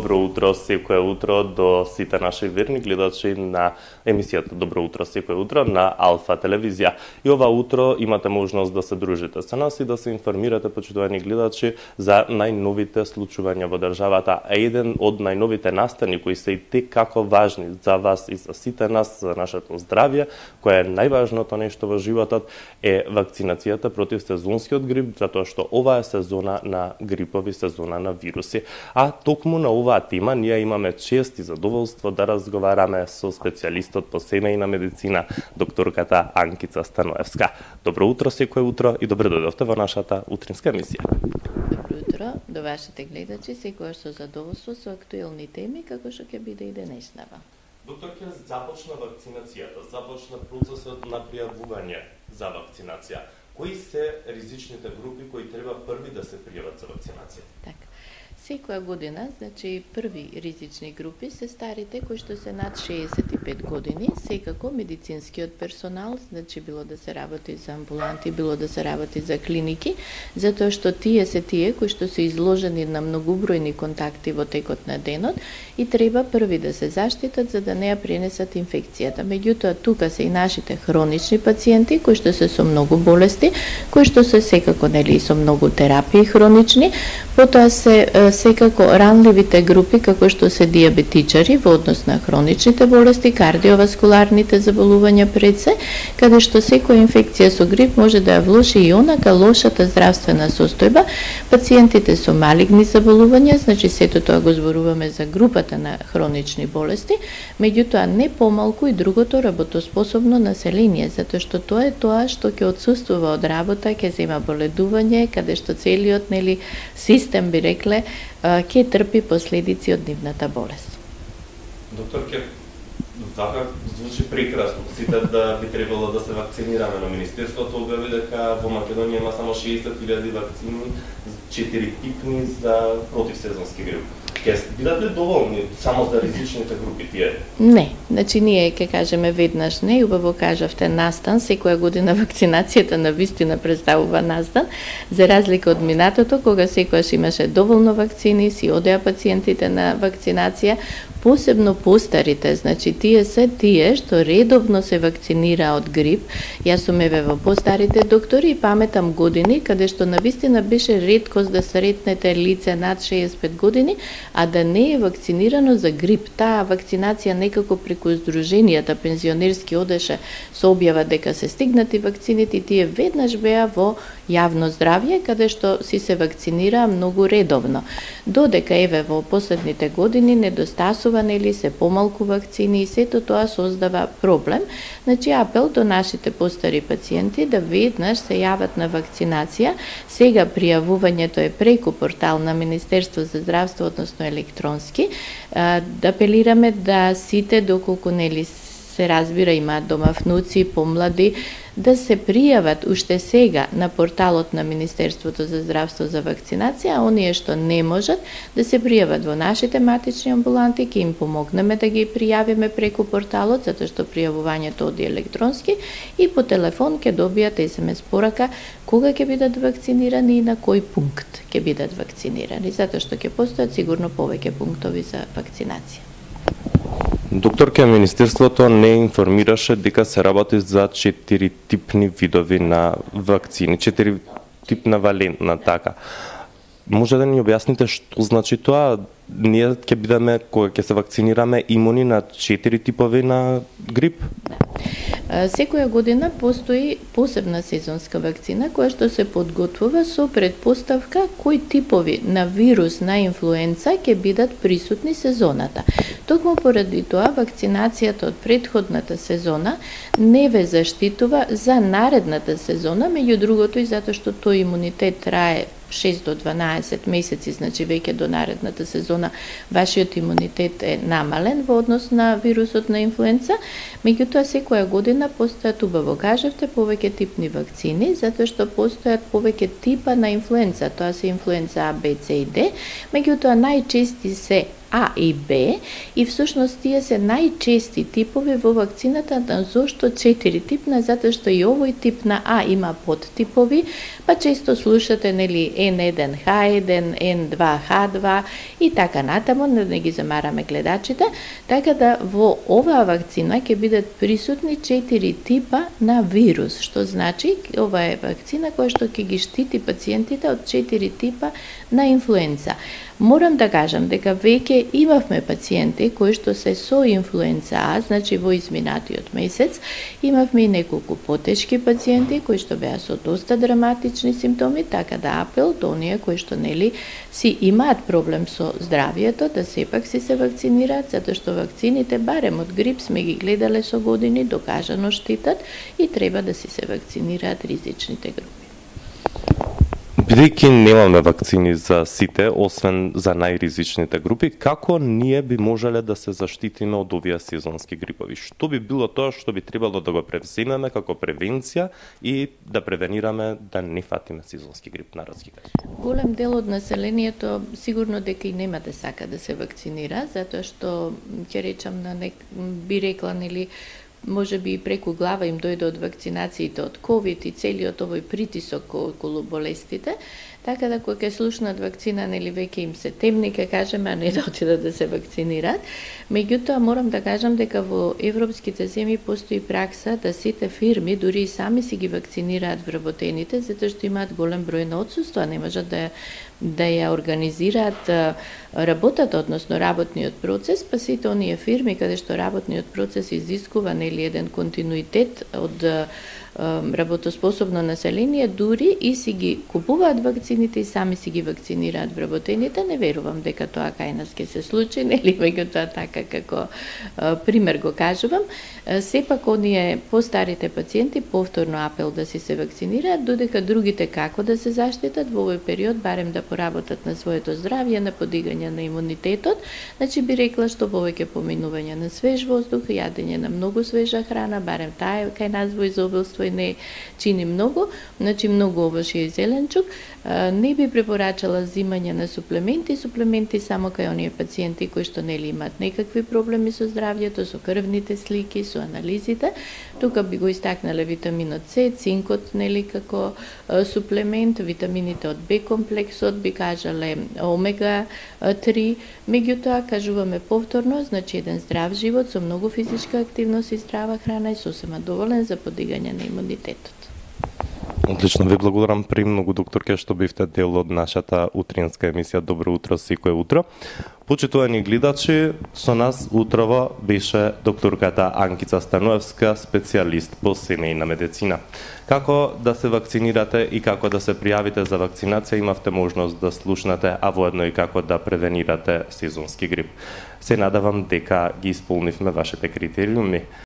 Добро утро секое утро до сите наши верни гледачи на емисијата Добро утро секое утро на Алфа телевизија. И ова утро имате можност да се дружите со нас и да се информирате, почитувани гледачи, за најновите случувања во државата. А еден од најновите настани кои се и како важни за вас и за сите нас, за нашето здравје, кое е најважното нешто во животот, е вакцинацијата против сезонскиот грип, затоа што ова е сезона на грипови, сезона на вируси. А токму на оваа тема ние имаме чест и задоволство да разговараме со специјалистот по семејна медицина, докторката Анкица Станоевска. Добро утро секое утро и добро дојдовте во нашата утринска емисија. Добро утро до вашите гледачи, секојаш со задоволство со актуелни теми како што ќе биде и денешнава. Доктор, ќе започна вакцинацијата, започна процесот на пријавување за вакцинација. Кои се ризичните групи кои треба први да се пријават за вакцинација? Така. Секоја година, значи први ризични групи се старите кои што се над 65 години, секако медицинскиот персонал, значи било да се работи за амбуланти, било да се работи за клиники, затоа што тие се тие кои што се изложени на многобројни контакти во текот на денот и треба први да се заштитат за да не ја пренесат инфекцијата. Меѓутоа, тука се и нашите хронични пациенти кои што се со многу болести, кои што се секако нели со многу терапии хронични, потоа се секако ранливите групи како што се диабетичари во однос на хроничните болести, кардиоваскуларните заболувања пред се, каде што секоја инфекција со грип може да ја влоши и онака лошата здравствена состојба. Пациентите со малигни заболувања, значи сето тоа го зборуваме за групата на хронични болести, меѓутоа не помалку и другото работоспособно население, затоа што тоа е тоа што ќе отсуствува од работа, ќе зема боледување, каде што целиот нели систем би рекле ќе трпи последици од нивната болест. Доктор, така звучи прекрасно. Сите да би требало да се вакцинираме, но Министерството објави дека во Македонија има само 60.000 вакцини, 4 типни за противсезонски грип. Ќе бидат ли доволни само за ризичните групи тие? Не, значи ние ќе кажеме веднаш не, и убаво кажавте настан, секоја година вакцинацијата на вистина представува настан, за разлика од минатото кога секојаш имаше доволно вакцини, си одеа пациентите на вакцинација, посебно постарите, значи тие се тие што редовно се вакцинира од грип. Јас сум еве во постарите доктори и паметам години каде што навистина беше реткост да сретнете лице над 65 години, а да не е вакцинирано за грип. Таа вакцинација некако преку здруженијата пензионерски одеше со објава дека се стигнати вакцините и тие веднаш беа во јавно здравје, каде што си се вакцинира многу редовно. Додека еве во последните години недостасува нели се помалку вакцини и сето тоа создава проблем. Значи апел до нашите постари пациенти да веднаш се јават на вакцинација. Сега пријавувањето е преку портал на Министерство за здравство, односно електронски. Да апелираме да сите доколку нели се разбира имаат дома внуци, помлади, да се пријават уште сега на порталот на Министерството за здравство за вакцинација, а оние што не можат да се пријават во нашите матични амбуланти, ќе им помогнеме да ги пријавиме преку порталот, затоа што пријавувањето оди електронски и по телефон ќе добијат SMS порака кога ќе бидат вакцинирани и на кој пункт ќе бидат вакцинирани, затоа што ќе постојат сигурно повеќе пунктови за вакцинација. Докторке, Министерството не информираше дека се работи за 4 типни видови на вакцини, 4 типна валентна така. Може да ни објасните што значи тоа? Ние ќе бидеме, кога ќе се вакцинираме, имуни на 4 типови на грип? Секоја година постои посебна сезонска вакцина која што се подготвува со предпоставка кои типови на вирус на инфлуенца ќе бидат присутни сезоната. Токму поради тоа вакцинацијата од претходната сезона не ве заштитува за наредната сезона, меѓу другото и затоа што тој имунитет трае 6 до 12 месеци, значи веќе до наредната сезона вашиот имунитет е намален во однос на вирусот на инфлуенца, меѓутоа секоја година постојат, убаво кажавте, повеќе типни вакцини, затоа што постојат повеќе типа на инфлуенца, тоа се инфлуенца А, Б, С и Д, меѓутоа најчести се А и Б, и всушност тие се најчести типови во вакцината. Зошто 4 типна? Затоа што и овој тип на А има подтипови, па често слушате нели N1H1, N2H2 и така натаму, не ги замараме гледачите, така да во оваа вакцина ќе бидат присутни 4 типа на вирус, што значи ова е вакцина која што ќе ги штити пациентите од 4 типа на инфлуенца. Морам да кажам дека веќе имавме пациенти кои што се со инфлуенца А, значи во изминатиот месец, имавме и неколку потешки пациенти кои што беа со доста драматични симптоми, така да апел до оние кои што нели си имаат проблем со здравието да сепак си се вакцинираат, затоа што вакцините барем од грип сме ги гледале со години, докажано штитат и треба да си се вакцинираат ризичните групи. Бидејќи немаме вакцини за сите, освен за најризичните групи, како ние би можеле да се заштитиме од овие сезонски грипови? Што би било тоа што би требало да го превземеме како превенција и да превенираме да не фатиме сезонски грип, наразги кажа? Голем дел од населението сигурно дека и нема да сака да се вакцинира, затоа што ќе речам би рекла нели може би и преку глава им дојде од вакцинациите од ковид и целиот овој притисок околу болестите, така да кога ќе слушнат вакцина, нели веќе им се темни, ќе кажеме, а не да отидат да се вакцинираат. Меѓутоа, морам да кажам дека во европските земји постои пракса да сите фирми, дури и сами си ги вакцинираат вработените, затоа што имаат голем број на отсуства, не можат да ја организираат работата, односно работниот процес, па сите оние фирми каде што работниот процес изискува нели еден континуитет од работоспособно население, дури и си ги купуваат вакцините и сами си ги вакцинираат вработените. Не верувам дека тоа кај нас ќе се случи, нели, меѓутоа така како пример го кажувам. Сепак оние постарите пациенти повторно апел да си се вакцинираат, додека другите како да се заштитат во овој период, барем да поработат на своето здравје, на подигање на имунитетот. Значи би рекла што повеќе поминување на свеж воздух, јадење на многу свежа храна, барем таа кај нас во изобилство и не чини многу, значи многу овошје и зеленчук. Не би препорачала зимање на суплементи само кај оние пациенти кои што нели имаат некакви проблеми со здравјето, со крвните слики, со анализите. Тука би го истакнале витаминот С, цинкот нели како суплемент, витамините од Б комплексот, би кажале омега 3. Меѓутоа кажуваме повторно, значи еден здрав живот со многу физичка активност и здрава храна е сосема доволен за подигање на имунитетот. Одлично, ви благодарам премногу, докторке, што бивте дел од нашата утринска емисија Добро утро секое утро. Почитувани гледачи, со нас утрово беше докторката Анкица Станоевска, специјалист по семејна медицина. Како да се вакцинирате и како да се пријавите за вакцинација имавте можност да слушнате, а воедно и како да превенирате сезонски грип. Се надавам дека ги исполнивме вашите критериуми.